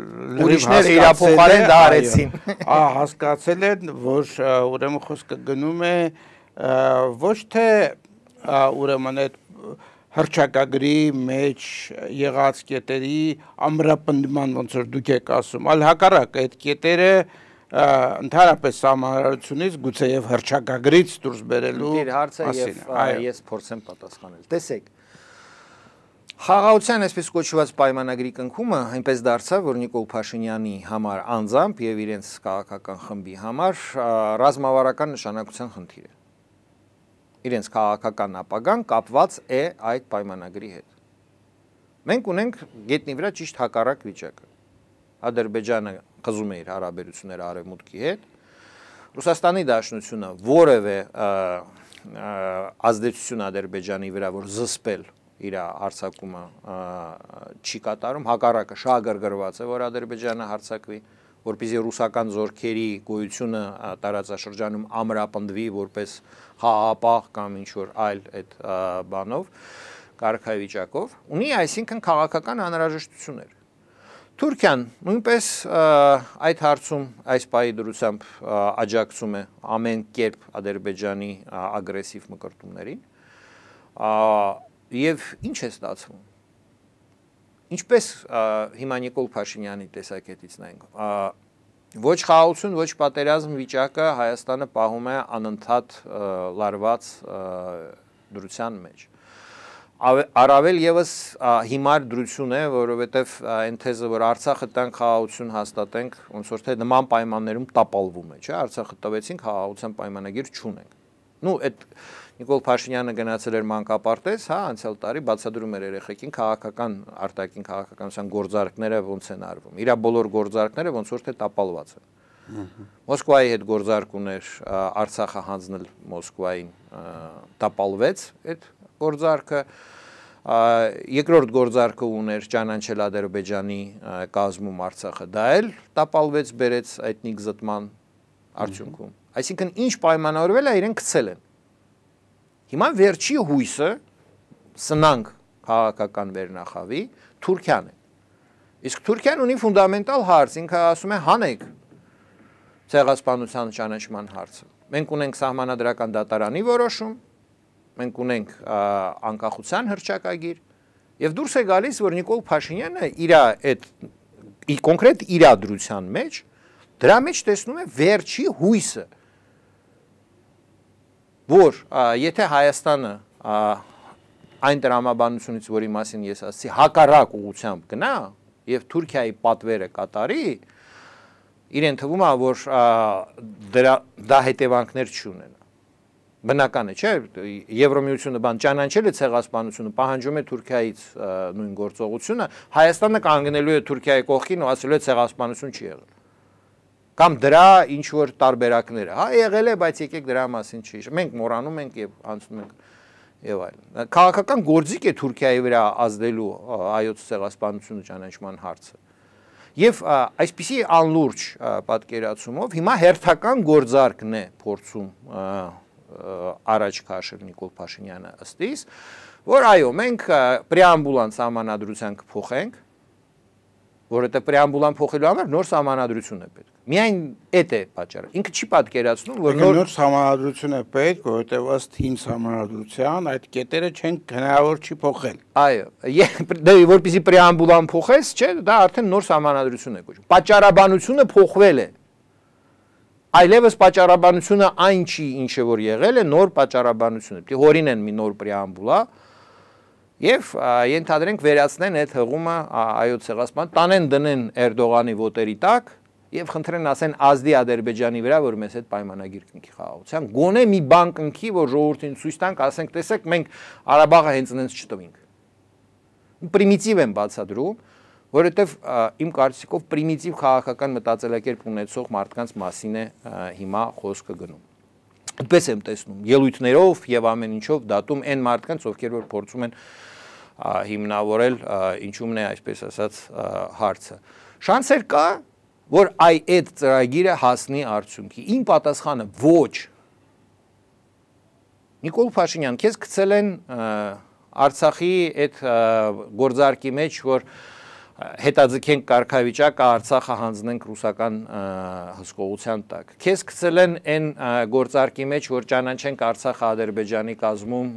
ուրիշները իրափոխարեն դա արեցին։ Հասկացել են, որ ուրեմն խոսքը գնում է ոչ թե ուրեմն այդ հռչակագրի մեջ եղած կետերի ամրապնդման, ոնց որ դուք եք ասում, այլ հակառակ այդ կետերը ընդհանրապես սահմանադրությունից գուցե եւ հռչակագրից դուրս բերելու մասին։ Ես փորձեմ պատասխանել։ Տեսեք, խաղաղության այսպես կոչված պայմանագրի կնքումը այնպես դարձավ, որ Նիկոլ Փաշինյանի համար անձամբ եւ իրենց քաղաքական խմբի համար ռազմավարական նշանակության խնդիր է։ Իրենց քաղաքական ապագան կապված է այդ պայմանագրի հետ։ Մենք ունենք գետնի վրա ճիշտ հակառակ վիճակը։ Ադրբեջանը խզում է իր հարաբերությունները Արևմուտքի հետ, Ռուսաստանի Դաշնությունը որևէ ազդեցություն Ադրբեջանի վրա, որ զսպել իր հարձակումը չի կատարում, հակառակը շահագրգռված է, որ Ադրբեջանը հարձակվի, որպեսզի ռուսական զորքերի գոյությունը տարածաշրջանում ամրապնդվի որպես խաղաղապահ կամ ինչ-որ այլ այդ բանով, կարգավիճակով, ունի այսինքն քաղաքական անհրաժեշտություններ։ Թուրքիան նույնպես այդ հարցում այս պահի դրությամբ աջակցում է ամեն կերպ Ադրբեջանի ագրեսիվ մկրտումներին, եւ ինչ է ստացվում։ Ինչպես հիմա Նիկոլ Փաշինյանի տեսակետից նայենք, ոչ խաղաղություն, ոչ պատերազմ վիճակը Հայաստանը պահում է անընդհատ լարված դրության մեջ։ Առավել եւս հիմար դրություն է, որովհետեւ այն թեզը, որ Արցախը տանք խաղաղություն հաստատենք, ոնց որ թե նման պայմաններում տապալվում է, չէ՞, Արցախը տվեցինք, խաղաղության պայմանագիր չունենք։ նու այդ Նիկոլ Փաշինյանը գնացել էր մանկապարտեզ, հա, անցյալ տարի բացատրում էր երեխեքին քաղաքական արտաքին քաղաքականության գործարքները ոնց են արվում։ Իրա բոլոր գործարքները ոնց որ թե տապալված են։ Մոսկվայի հետ գործարք ուներ Արցախը հանձնել Մոսկվային, տապալվեց այդ գործարքը։ Երկրորդ գործարքը ուներ ճանաչել Ադրբեջանի կազմում Արցախը, դա էլ տապալվեց, բերեց էթնիկ զտման արդյունքում։ Այսինքն ինչ պայմանավորվել է, իրեն գցել են։ Հիմա վերջի հույսը սնանք քաղաքական վերնախավի Թուրքիան է։ Իսկ Թուրքիան ունի ֆունդամենտալ հարց, ինքը ասում է հանեք ցեղասպանության ճանաչման հարցը։ Մենք ունենք սահմանադրական դատարանի որոշում, մենք ունենք անկախության հռչակագիր, եւ դուրս է գալիս, որ Նիկոլ Փաշինյանը իր այդ կոնկրետ իրադրության մեջ դրա մեջ տեսնում է վերջի հույսը, որ եթե Հայաստանը այն տրամաբանությունից, որի մասին ես ասացի, հակառակ ուղղությամբ գնա եւ Թուրքիայի պատվերը կատարի, իրեն թվում է, որ դրա դա հետևանքներ չունենա։ Բնական է, չէ՞, Եվրոմիությունը բան ճանաչել է ցեղասպանությունը, պահանջում է Թուրքիայից նույն գործողությունը, Հայաստանը կանգնելու է Թուրքիայի կողքին ու ասելու է ցեղասպանություն չի եղել։ Կամ դրա ինչ որ տարբերակները, հա, եղել է, բայց եկեք դրա մասին չի։ Մենք մոռանում ենք եւ անցնում ենք եւ այլն։ Քաղաքական գործիք է Թուրքիայի վրա ազդելու հայոց ցեղասպանությունը ճանաչման հարցը։ Եվ այսպիսի անլուրջ պատկերացումով հիմա հերթական գործարքն է փորձում առաջ քաշել Նիկոլ Փաշինյանը ըստ իս, որ այո, մենք պրեամբուլան սահմանադրության կփոխենք, որովհետեւ պրեամբուլան փոխելու համար նոր սահմանադրություն է պետք։ Միայն այդ է պատճառը։ Ինքը չի պատկերացնում, որ նոր նոր սահմանադրություն է պետք, որովհետեւ ըստ հին սահմանադրության այդ կետերը չեն հնարավոր չի փոխել։ Այո, դե որպեսզի պրեամբուլան փոխես, չէ, դա արդեն նոր սահմանադրություն է կոչվում։ Պատճառաբանությունը փոխվել է։ Այլևս պատճառաբանությունը այն չի, ինչը որ եղել է, նոր պատճառաբանություն է։ Պետք է հորինեն մի նոր պրեամբուլա եւ ենթադրենք վերացնեն այդ հղումը այոց ցեղասպան, տանեն դնեն Էրդողանի ոտերի տակ եւ խնդրեն ասեն ազդի Ադրբեջանի վրա, որ մեզ հետ պայմանագիր կնքի խաղաղության, գոնե մի բան կնքի, որ ժողովրդին ցույց տանք, ասենք, տեսեք, մենք Ղարաբաղը հենց այնպես չտվինք։ Պրիմիտիվ են բացադրում, որովհետեւ իմ կարծիքով պրիմիտիվ քաղաքական մտածելակերպ ունեցող մարդկանց մասին է հիմա խոսքը գնում։ Այդպես եմ տեսնում, ելույթներով եւ ամեն ինչով դատում այն մարդկանց, ովքեր որ փորձում են հիմնավորել ինչումն է, այսպես ասած, հարցը։ Շանսեր կա, որ այ այդ ծրագիրը հասնի արդյունքի։ Իմ պատասխանը ոչ։ Նիկոլ Փաշինյան, քեզ գցել են Արցախի այդ գործարքի մեջ, որ հետաձգենք կարգավիճակը, Արցախը հանձնենք ռուսական հսկողության տակ։ Քեզ գցել են այն գործարքի մեջ, որ ճանաչենք Արցախը Ադրբեջանի կազմում,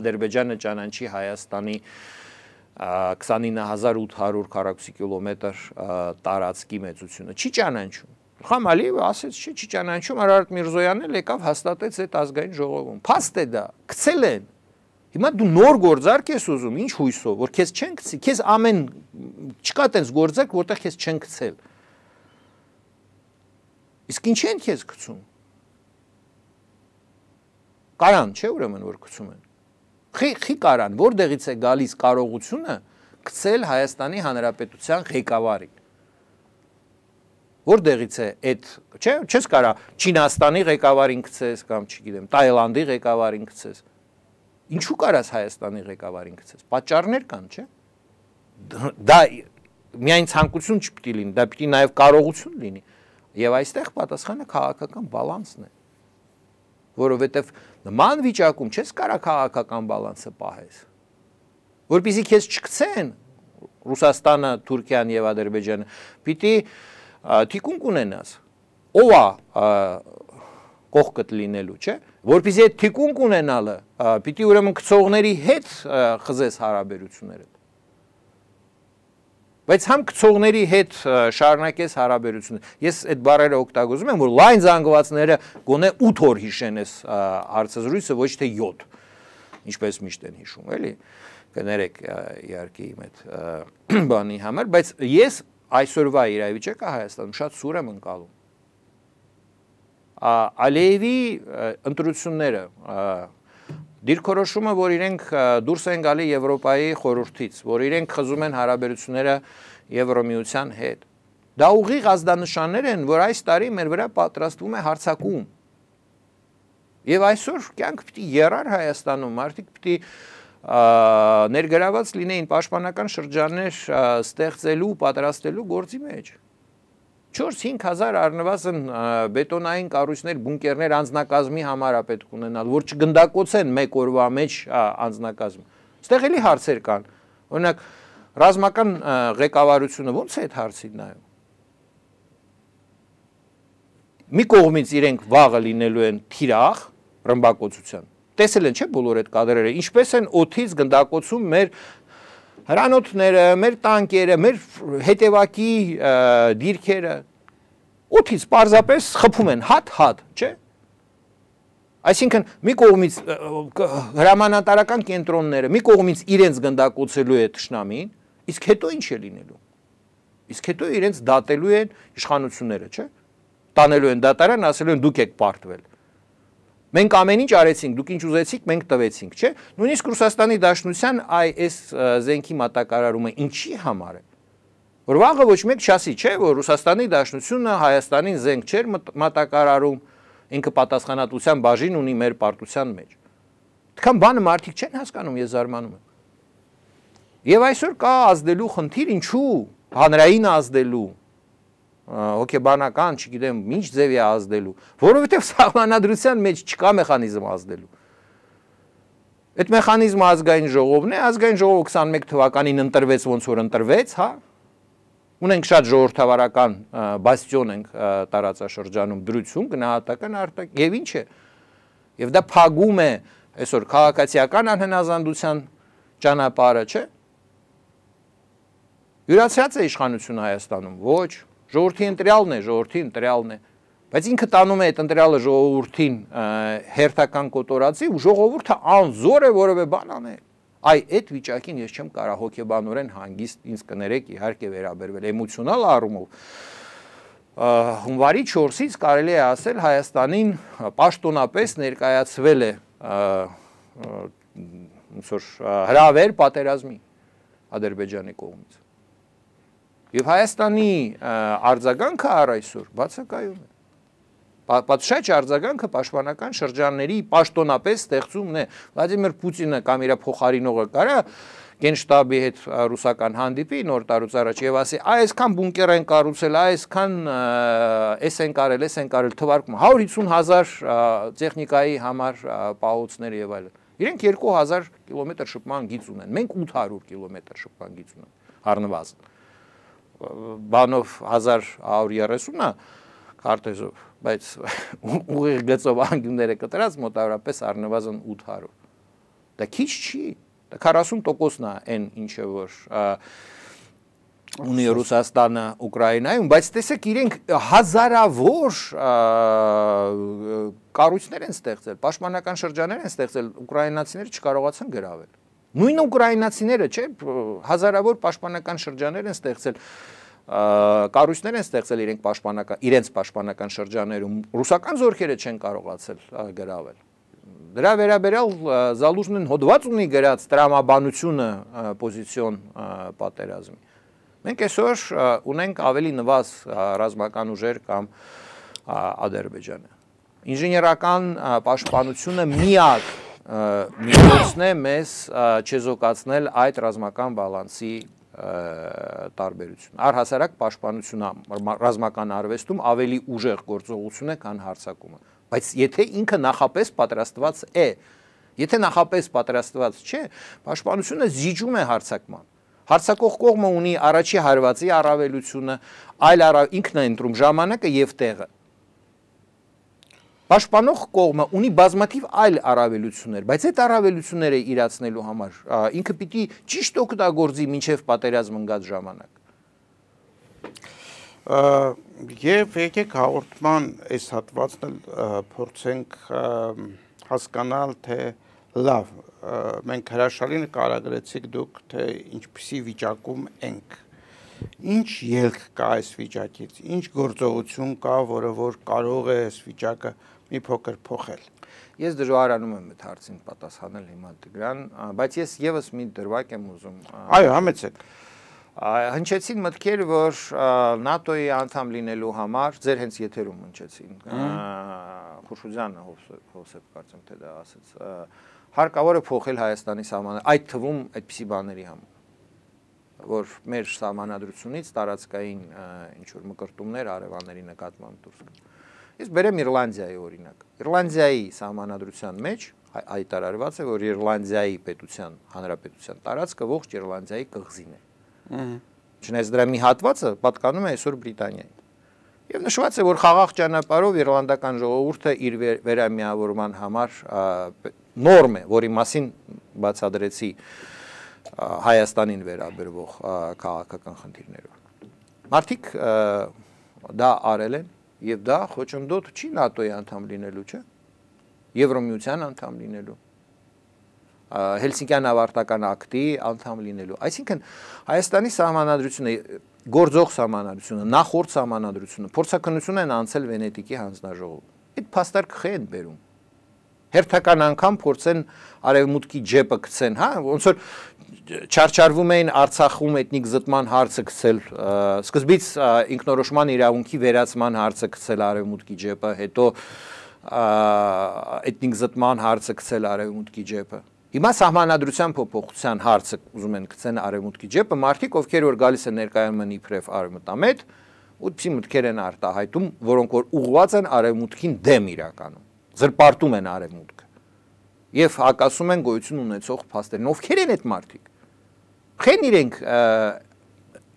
Ադրբեջանը ճանաչի Հայաստանի քսանինը հազար ութ հարյուր քառակուսի կիլոմետր տարածքի մեծությունը։ Չի ճանաչում։ Իլհամ Ալիևը ասեց, չի, չի ճանաչում, Արարատ Միրզոյանն էլ եկավ հաստատեց այդ ազգային ժողովում։ Փաստ է դա, գցել են։ Հիմա դու նոր գործարք ես ուզում, ինչ հույսով, որ քեզ չեն գցի, քեզ ամեն չկա տես գործարք, որտեղ քեզ չեն գցել։ Իսկ ինչ են քեզ գցում։ Կարան, չէ՞ ուրեմն որ գցում են։ Խի խի կարան, որտեղից է գալիս կարողությունը գցել Հայաստանի Հանրապետության ղեկավարին։ Որտեղից է այդ, չէ՞, չես կարա Չինաստանի ղեկավարին գցես կամ չգիտեմ, Թայլանդի ղեկավարին գցես։ Ինչու կարաս Հայաստանի ղեկավարին գցես։ Պատճառներ կան, չէ՞։ Դա միայն ցանկություն չպիտի լինի, դա պիտի նաև կարողություն լինի։ Եվ այստեղ պատասխանը քաղաքական բալանսն է։ Որովհետև նման վիճակում չես կարա քաղաքական բալանսը պահես։ Որպեսզի քեզ չգցեն Ռուսաստանը, Թուրքիան եւ Ադրբեջանը, պիտի թիկունք ունենաս։ Ով է կողքդ լինելու, չէ՞։ Որպեսզի այդ թիկունք ունենալը, պիտի ուրեմն գցողների հետ խզես հարաբերությունները։ Բայց համ գցողների հետ շարունակես հարաբերությունը։ Ես այդ բառերը օգտագործում եմ, որ լայն զանգվածները գոնե ութ օր հիշեն այս հարցազրույցը, ոչ թե յոթ, ինչպես միշտ են հիշում, էլի։ Կներեք իհարկե իմ այդ բանի համար, բայց ես այսօրվա իրավիճակը Հայաստանում շատ սուր եմ ընկալում։ Ալիևի ընտրությունները, դիրքորոշումը, որ իրենք դուրս են գալի Եվրոպայի խորհրդից, որ իրենք խզում են հարաբերությունները Եվրոմիության հետ, դա ուղիղ ազդանշաններ են, որ այս տարի մեր վրա պատրաստվում է հարձակում։ Եվ այսօր կյանք պիտի եռար Հայաստանում, մարդիկ պիտի ներգրաված լինեին պաշտպանական շրջաններ ստեղծելու, պատրաստելու գործի մեջ։ չորս-հինգ հազար առնվազն բետոնային կառույցներ, բունկերներ անձնակազմի համար է պետք ունենալ, որ չգնդակոծեն մեկ օրվա մեջ անձնակազմը։ Ստեղ էլի հարցեր կան։ Օրինակ, ռազմական ղեկավարությունը ո՞նց է այդ հարցին նայում։ Մի կողմից իրենք վաղը լինելու են թիրախ ռմբակոծության։ Տեսել են, չէ՞, բոլոր այդ կադրերը, ինչպես են օդից գնդակոծում մեր հրանոթները, մեր տանկերը, մեր հետևակի դիրքերը, օդից պարզապես խփում են հատ-հատ, չէ՞։ Այսինքն մի կողմից հրամանատարական կենտրոնները, մի կողմից իրենց գնդակոծելու է թշնամին, իսկ հետո ինչ է լինելու։ Իսկ հետո իրենց դատելու են իշխանությունները, չէ՞։ Տանելու են դատարան, ասելու են դուք եք պարտվել։ Մենք ամեն ինչ արեցինք, դուք ինչ ուզեցիք, մենք տվեցինք, չէ՞։ Նույնիսկ Ռուսաստանի Դաշնության այս զենքի մատակարարումը ինչի համար է։ Որ վաղը ոչ մեկ չասի, չէ՞, որ Ռուսաստանի Դաշնությունը Հայաստանին զենք չէր մատակարարում, ինքը պատասխանատվության բաժին ունի մեր պարտության մեջ։ Դքան բանը մարդիկ չեն հասկանում, ես զարմանում եմ։ Եվ այսօր կա ազդելու խնդիր, ինչու հանրային ազդելու, հոգեբանական, չգիտեմ, ինչ ձև է ազդելու, որովհետև սահմանադրության մեջ չկա մեխանիզմ ազդելու։ Այդ մեխանիզմը ազգային ժողովն է, ազգային ժողովը քսանմեկ թվականին ընտրվեց, ոնց որ ընտրվեց, հա։ Ունենք շատ ժողովրդավարական բաստիոն ենք տարածաշրջանում, դրություն, գնահատական արտակ, եւ ինչ է։ Եվ դա փակում է այսօր քաղաքացիական անհնազանդության ճանապարհը, չէ՞։ Յուրացած է իշխանությունը Հայաստանում, ոչ, ժողովրդի ընտրյալն է, ժողովրդի ընտրյալն է, բայց ինքը տանում է այդ ընտրյալը ժողովրդին հերթական կոտորածի ու ժողովուրդը անզոր է որևէ բան անել։ Այ այդ վիճակին ես չեմ կարող հոգեբանորեն հանգիստ ինձ կներեք իհարկե վերաբերվել էմոցիոնալ առումով։ Հունվարի չորսից կարելի է ասել Հայաստանին պաշտոնապես ներկայացվել է ոնց որ հրավեր պատերազմի Ադրբեջանի կողմից։ Եվ Հայաստանի արձագանքը առ այսօր բացակայում է։ Պատշաճ արձագանքը պաշտպանական շրջանների պաշտոնապես ստեղծումն է։ Վլադիմիր Պուտինը կամ իր փոխարինողը կարա գենշտաբի հետ ռուսական հանդիպի նոր տարուց առաջ եւ ասի, այսքան բունկեր են կառուցել, այսքան էս են կարել, էս են կարել, թվարկում հարյուր հիսուն հազար տեխնիկայի համար պահոցներ եւ այլն։ Իրենք երկու հազար կիլոմետր շփման գիծ ունեն, մենք ութ հարյուր կիլոմետր շփման գիծ ունենք առնվազն։ Բանով հազար հարյուր երեսունը քարտեզով, բայց ուղիղ գծով անկյունները կտրած մոտավորապես առնվազն ութ հարյուր։ Դա քիչ չի, դա քառասուն տոկոսն է այն ինչը որ ունի Ռուսաստանը Ուկրաինայում, բայց տեսեք իրենք հազարավոր կառույցներ են ստեղծել, պաշտպանական շրջաններ են ստեղծել, ուկրաինացիները չկարողացան գրավել։ Նույն ուկրաինացիները, չէ, հազարավոր պաշտպանական շրջաններ են ստեղծել, կառույցներ են ստեղծել իրենք պաշտպանական, իրենց պաշտպանական շրջաներում, ռուսական զորքերը չեն կարողացել գրավել։ Դրա վերաբերյալ Զալուժնին հոդված ունի գրած տրամաբանությունը պոզիցիոն պատերազմի։ Մենք այսօր ունենք ավելի նվազ ռազմական ուժեր կամ Ադրբեջանը։ Ինժեներական պաշտպանությունը միակ միջոցն է մեզ չեզոքացնել այդ ռազմական բալանսի տարբերություն։ Առհասարակ պաշտպանությունը ռազմական արվեստում ավելի ուժեղ գործողություն է, քան հարձակումը։ Բայց եթե ինքը նախապես պատրաստված է, եթե նախապես պատրաստված չէ, պաշտպանությունը զիջում է հարձակման։ Հարձակող կողմը ունի առաջի հարվածի առավելությունը, այլ ինքն է ընտրում ժամանակը եւ տեղը։ Պաշտպանող կողմը ունի բազմաթիվ այլ առավելություններ, բայց այդ առավելությունները իրացնելու համար ինքը պիտի ճիշտ օգտագործի մինչև պատերազմ ընկած ժամանակ։ Եվ եկեք հաղորդման այս հատվածն փորձենք հասկանալ, թե լավ, մենք հրաշալի նկարագրեցիք դուք, թե ինչպիսի վիճակում ենք Ինչ ելք կա այս վիճակից, ինչ գործողություն կա, որը որ կարող է այս վիճակը մի փոքր փոխել։ Ես դժվարանում եմ այդ հարցին պատասխանել հիմա Տիգրան, բայց ես եւս մի դրվագ եմ ուզում։ Այո, համեցեք։ Հնչեցին մտքեր, որ ՆԱՏՕ-ի անդամ լինելու համար ձեր հենց եթերում հնչեցին։ Խուշուձյանը Հովսեփ կարծեմ թե դա ասաց։ Հարկավոր է փոխել Հայաստանի սահմանը, այդ թվում այդպիսի բաների համար, որ մեր սահմանադրությունից տարածքային ինչ որ մկրտումներ արևանների նկատմամբ դուրս գան։ Ես բերեմ Իռլանդիայի օրինակ։ Իռլանդիայի սահմանադրության մեջ հայտարարված է, որ Իռլանդիայի պետության, հանրապետության տարածքը ողջ Իռլանդիայի կղզին է։ Չնայած դրա մի հատվածը պատկանում է այսօր Բրիտանիային։ Եվ նշված է, որ խաղաղ ճանապարհով իռլանդական ժողովուրդը իր վերամիավորման համար նորմ է, որի մասին բացադրեցի Հայաստանին վերաբերող քաղաքական խնդիրներով։ Մարդիկ դա արել են եւ դա խոչընդոտ չի ՆԱՏՕ-ի անդամ լինելու, չէ՞։ Եվրոմիության անդամ լինելու, Հելսինկյան ավարտական ակտի անդամ լինելու։ Այսինքն Հայաստանի սահմանադրությունը, գործող սահմանադրությունը, նախորդ սահմանադրությունը փորձակնություն են անցել Վենետիկի հանձնաժողով։ Այդ փաստարկը խե են բերում։ Հերթական անգամ փորձեն արևմուտքի ջեպը գցեն, հա, ոնց որ չարչարվում էին Արցախում էթնիկ զտման հարցը գցել, սկզբից ինքնորոշման իրավունքի վերացման հարցը գցել արևմուտքի ջեպը, հետո էթնիկ զտման հարցը գցել արևմուտքի ջեպը։ Հիմա սահմանադրության փոփոխության հարցը ուզում են գցեն արևմուտքի ջեպը, մարդիկ, ովքեր որ գալիս են ներկայանում են իբրև արևմտամետ, ուտպիսի մտքեր են արտահայտում, որոնք որ ուղղված են արևմուտքին դեմ իրականում, զրպարտում են արևմուտքը եւ հակասում են գոյություն ունեցող փաստերին։ Ովքեր են այդ մարդիկ։ Խեն իրենք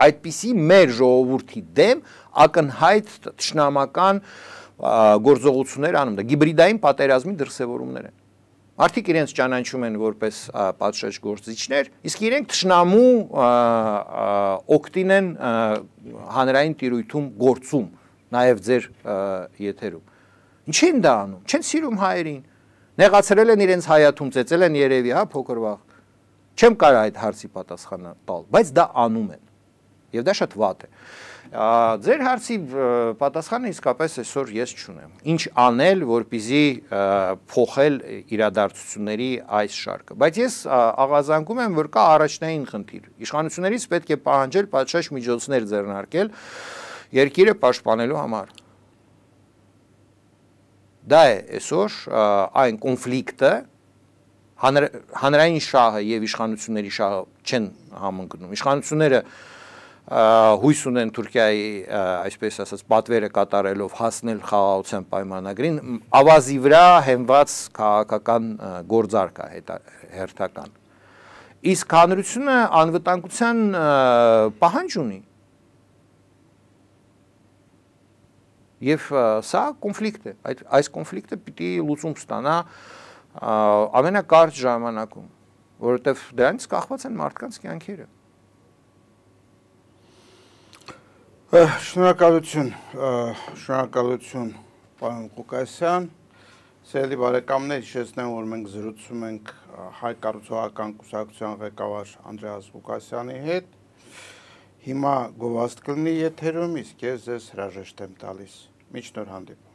այդպիսի մեր ժողովրդի դեմ ակնհայտ թշնամական գործողություններ անում, դա հիբրիդային պատերազմի դրսևորումներ են։ Մարդիկ իրենց ճանաչում են որպես պատշաճ գործիչներ, իսկ իրենք թշնամու օգտին են հանրային տիրույթում գործում, նաև ձեր եթերում։ Ինչ են դա անում։ Չեն սիրում հայերին։ Նեղացրել են իրենց հայաթում, ծեծել են երևի, հա, փոքր վաղ։ Չեմ կարող այդ հարցի պատասխանը տալ, բայց դա անում են։ Եվ դա շատ վատ է։ Ձեր հարցի պատասխանը իսկապես այսօր ես չունեմ։ Ինչ անել, որպեսզի փոխել իրադարձությունների այս շարքը։ Բայց ես աղազանգում եմ, որ կա առաջնային խնդիր։ Իշխանություններից պետք է պահանջել պատշաճ միջոցներ ձեռնարկել երկիրը պաշտպանելու համար։ Դա է այսօր այն կոնֆլիկտը, հանրային շահը եւ իշխանությունների շահը չեն համընկնում։ Իշխանությունները հույս ունեն Թուրքիայի, այսպես ասած, պատվերը կատարելով հասնել խաղաղության պայմանագրին, ավազի վրա հենված քաղաքական գործարք է հերթական։ Իսկ հանրությունը անվտանգության պահանջ ունի։ Եվ սա կոնֆլիկտ է, այս կոնֆլիկտը պիտի լուծում ստանա ամենակարճ ժամանակում, որովհետև դրանից կախված են մարդկանց կյանքերը։ Շնորհակալություն, շնորհակալություն, պարոն Ղուկասյան։ Սիրելի բարեկամներ, հիշեցնեմ, որ մենք զրուցում ենք Հայ կառուցողական կուսակցության ղեկավար Անդրեաս Ղուկասյանի հետ։ Հիմա գովազդ կլինի եթերում, իսկ ես ձեզ հրաժեշտ եմ տալիս։ Մինչ նոր հանդիպում։